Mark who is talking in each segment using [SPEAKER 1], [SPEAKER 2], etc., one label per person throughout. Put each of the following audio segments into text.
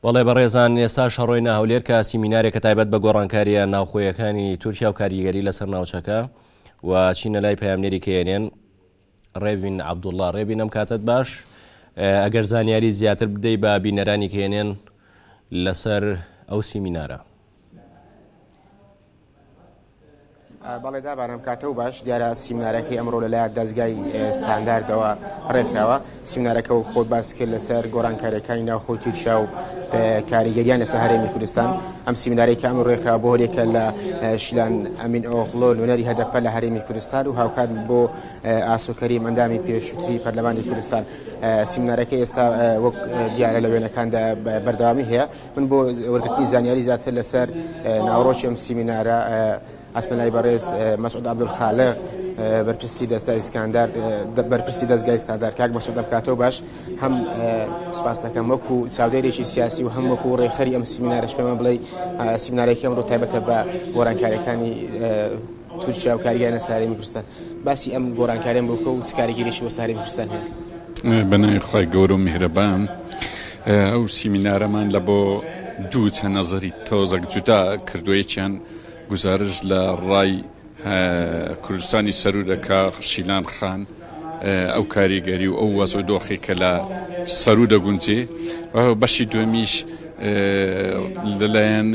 [SPEAKER 1] بەڵێ بەڕێزان ئێستاش هەڕۆینە هەولێر کە سیمینارێکە تایبەت بە گۆڕانکارییە ناوخۆیەکانی تورکیا و کاریگەری لەسەر ناوچەکە و چینە لای پەیامنێری کەێنێن ڕێبین عەبدوڵڵا ڕێبین ئەم کاتت باش ئەگەر زانیاری زیاتر بدەی بە بینەرانی کەێنێن لەسەر ئەو سیمینارە.
[SPEAKER 2] بەڵێ دابان ئەم کاتە و باش دیارە سیمنارەکەی ئەمڕۆ لەلایەن دەزگای ستانداردەوە ڕێکخراوە سیمنارەکە و خۆت باس کرد لەسەر گۆڕانکاریەکانی ناوخۆی تورکیا و کاریگەریان لەسەر هەرێمی کوردستان ئەم سیمنارەی کە ئەمڕۆ ڕێکخرا بۆ هەریەکە لە شیلان ئەمین ئۆغڵۆ نوێنەری هەدەپە لە هەرێمی کوردستان و هاوکات بۆ ئاسۆ کەریم ئەندامی پێشووتری پەرلەمانی کوردستان سیمنارەکە ئێستا وەک دیارە لە وێنەکاندا بەردەوامی هەیە من بۆ وەرگرتنی زانیاری زیاتر لەسەر ناوەڕۆکی ئەم سیمینارە ئەچمە لای بەڕێز مەسعود عەبدولخالق بەرپرسی دەستای ستاندارد بەرپرسی دەستگای ستاندارد کاک مەسعود ئەم کاتەوە باش هەم سپاس دەکەم وەکو چاودێرێکی سیاسی و هەم وەکو ڕێکخەری ئەم سیمینارەش پێمان بڵێ سیمینارێکی ئەمڕۆ تایبەتە بە گۆڕانکاریەکانی تورکیا و کاریگەری لەسەر هەرێمی کوردستان باسی ئەم گۆڕانکاریان بۆ بکە و چ کاریگەریی بۆ سەر هەرێمی کوردستان هەیە؟
[SPEAKER 3] بە ناوی خوای گەورە و میهرەبان ئەو سیمینارەمان لە بۆ دوو چە نەزەری تۆزەک جودا کردووە یەکیان گوزارش لە ڕای کوردستانی سەروو دەکا شیلان خان ئەو کاریگەری و ئەو وەز و دۆخی کە لە سەروو دەگونجێ بەشی دووەمیش لەلایەن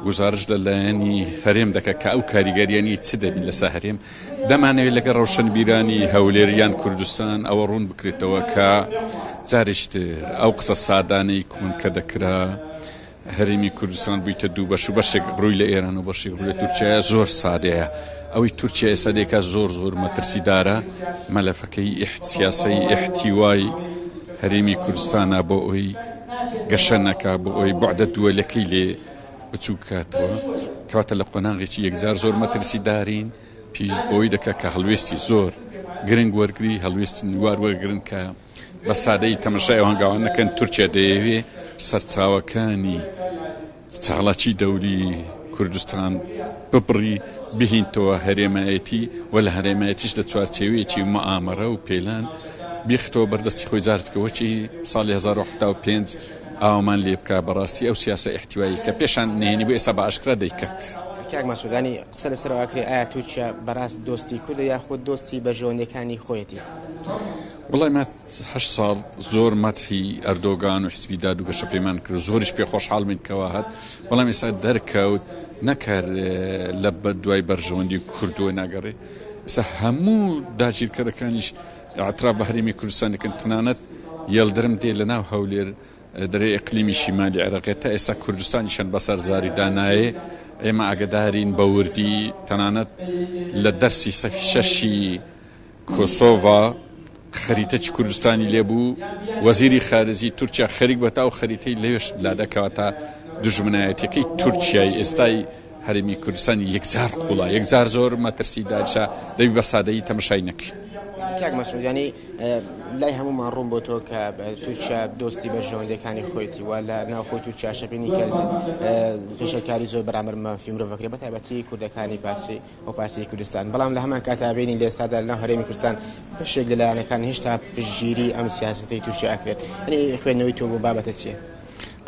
[SPEAKER 3] گوزارش لە لایەنی هەرێم دەکات کە ئەو کاریگەریانی چ دەبین لەسەر هەرێم دەمانەوێت لەگەڵ ڕەوشەنبیرانی هەولێر یان کوردستان ئەوە ڕوون بکرێتەوە کە جارێکی تر ئەو قسە سادانەی کۆن کە دەکرا هەرێمی کوردستان بوویتە دوو بەش و بەشێک ڕووی لە ئێران و بەشێک ڕووی لە تورکیایە زۆر سادەیە ئەوەی تورکیا ئێستا دەیکات زۆر زۆر مەترسیدارە مەلەفەکەی سیاسەی ئیحتیوای هەرێمی کوردستانە بۆ ئەوی گەشە نەکا بۆ ئەوی بەعدە دووەلەکەی لێ بچووک کاتەوە کەواتە لە قۆناغێکی یەکجار زۆر مەترسیدارین پێویست بەوەی دەکات کە هەڵوێستی زۆر گرنگ وەرگری هەڵوێستی نوار وەرگرن کە بە سادەیی تەمەشای ئەو هەنگاوان نەکەن تورکیا دەیەوێ سەرچاوەکانی چالاکی دەوری کوردستان ببڕی بهینتەوە هەرێمایەتی و لە هەرێمایەتیش لە چوارچێوەیەکی مئامەرە و پێلان بیختەوە بەردەستی خۆی جارتکە وەکی ساڵی 1970 ئاوامان لێ بکا بەڕاستی ئەو سیاسە ئیحتیوایی کە پێشان نهێنی بوو ئێستا بە ئاشکرا دەیکات.
[SPEAKER 2] کاک مەسعودانی قسە لەسەر ئەوە ئەکرێ ئایا تورکیا بەڕاست دۆستی کوردە یاخود دۆستی بەرژەوەندیەکانی خۆیەتی؟
[SPEAKER 3] وەڵای مە هەشت ساڵ زۆر مەدحی ئەردۆگان و حزبی داد و گەشەپێمان کرد و زۆریش پێ خۆشحاڵ بین کەوا هات بەڵام ئێستا دەرکەوت نەک هەر لە دوای بەرژەوەندی کوردەوە ناگەڕێ ئێستا هەموو داگیرکەرەکانیش ئیعتراف بە هەرێمی کوردستان دەکەن تەنانەت یەڵدرم دێ لە ناو هەولێر دەرێ ئیقلیمی شیمالی عێراقێ تا ئێستا کوردستانیشان بەسەر زاری دانایێ ئێمە ئاگەدارین بە وردی تەنانەت لە دەرسی سەفی شەشی کۆسۆڤا خەریتەکی کوردستانی لێ بوو وەزیری خارجی تورکیا خەریک بە تا ئەو خەریتەی لەوێش لادا کەواتە دوژمنایەتیەکەی تورکیای ئێستای هەرێمی کوردستان یەکجار قوڵە یەکجار زۆر مەترسی دارشە دەبی بە سادەیی تەمەشای نەکەین.
[SPEAKER 2] کاک مەسعود یانی لای هەموومان ڕوون بۆ تۆ کە تورکیا دۆستی بەرژەوەندیەکانی خۆیەتی و لە ناوخۆی تورکیا شەپینی کە پێشەکاری زۆر بەرامبەر مافی مرۆڤ کرێ بە تایبەتی کوردەکانی پارچەی و پارچەی کوردستان بەڵام لە هەمان کاتا بینین لە ئێستادا لەناو هەرێمی کوردستان بەشێک لە لایەنەکان هێشتا پشتگیری ئەم سیاسەتەی تورکیا ئەکرێت یعنی خوێندنەوەی تۆ بۆ بابەتە چییە؟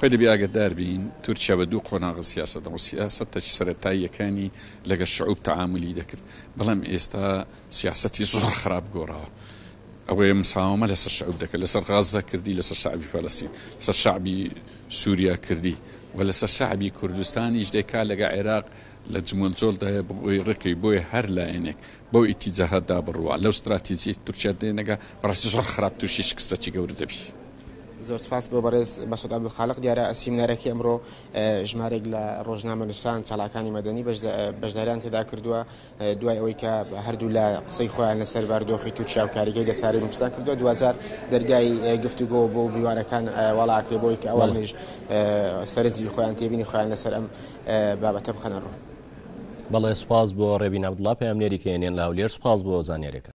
[SPEAKER 3] خۆی دەبی ئاگەدار بین تورکیا بە دوو قۆناغ سیاسەت دەڕۆ سیاسەتەکی سەرەتاییەکانی لەگەر شعوب تەعامولی دەکرد بەڵام ئێستا سیاسەتی زۆر خراپ گۆڕاوە ئەوەیە مساوەمە لەسەر شعوب دەکرد لەسەر غەزە کردی لەسەر شعبی فەلەستین لەسەر شعبی سووریا کردی و لەسەر شعبی کوردستانیش دەکا لەگە عێراق لە جموجۆڵدایە بۆ ئەوەی ڕێکەوی بۆیە هەر لایەنێک بەو ئیتیجاهەدا بڕوا لەو ستراتیجیەی تورکیا تێنەگا بەڕاستی زۆر خراپ توشی شکستەکی گەورە دەبی.
[SPEAKER 2] زۆر سپاس بۆ بەڕێز مەسعود عەبدولخالق دیارە سیمینارەکەی ئەمڕۆ ژمارێک لە ڕۆژنامەنووسان چالاکانی مەدەنی بەشداریان تێدا کردووە دوای ئەوەی کە هەردوولا قسەی خۆیان لەسەر بارودۆخی تورکیا و کاریگەری لەسەر هەرێمی کوردستان کردووە دواجار دەرگای گفتوگۆ بۆ میوانەکان واڵا ئەکرێ بۆی کە ئەوانیش سەرنجی خۆیان تێبینی خۆیان لەسەر ئەم بابەتە بخەنە ڕوو.
[SPEAKER 1] بەڵێ سوپاس بۆ ڕێبین عەبدوڵا پەیامنێری کەیەنێن لە هەولێر سوپاس بۆ زانیاریەکان.